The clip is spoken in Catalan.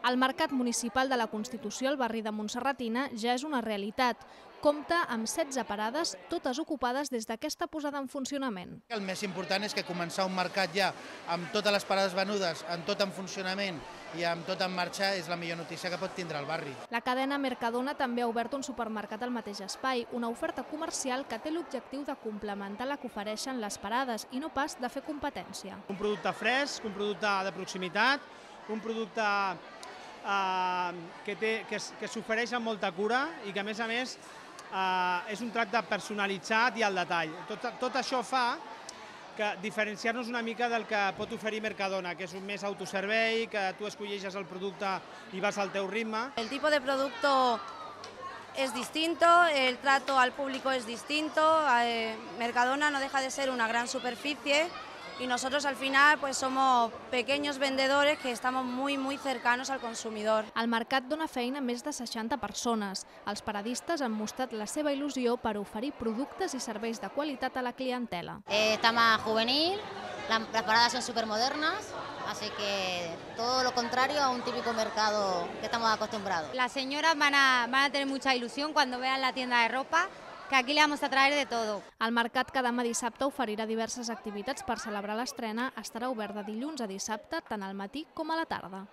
El Mercat Municipal de la Constitució al barri de Montserratina ja és una realitat. Compta amb 16 parades, totes ocupades des d'aquesta posada en funcionament. El més important és que començar un mercat ja amb totes les parades venudes, amb tot en funcionament i amb tot en marxa és la millor notícia que pot tindre el barri. La cadena Mercadona també ha obert un supermercat al mateix espai, una oferta comercial que té l'objectiu de complementar la que ofereixen les parades i no pas de fer competència. Un producte fresc, un producte de proximitat, un producte que s'ofereix amb molta cura i que a més és un tracte personalitzat i al detall. Tot això fa que diferenciar-nos una mica del que pot oferir Mercadona, que és un més autoservei, que tu escolleixes el producte i vas al teu ritme. El tipo de producto es distinto, el trato al público es distinto. Mercadona no deja de ser una gran superficie y nosotros al final pues somos pequeños vendedores que estamos muy cercanos al consumidor. El mercat dona feina a més de 60 persones. Els paradistes han mostrat la seva il·lusió per oferir productes i serveis de qualitat a la clientela. Está más juvenil, las paradas son súper modernas, así que todo lo contrario a un típico mercado que estamos acostumbrados. Las señoras van a tener mucha ilusión cuando vean la tienda de ropa, que aquí le vamos a traer de todo. El mercat que demà dissabte oferirà diverses activitats per celebrar l'estrena. Estarà obert de dilluns a dissabte, tant al matí com a la tarda.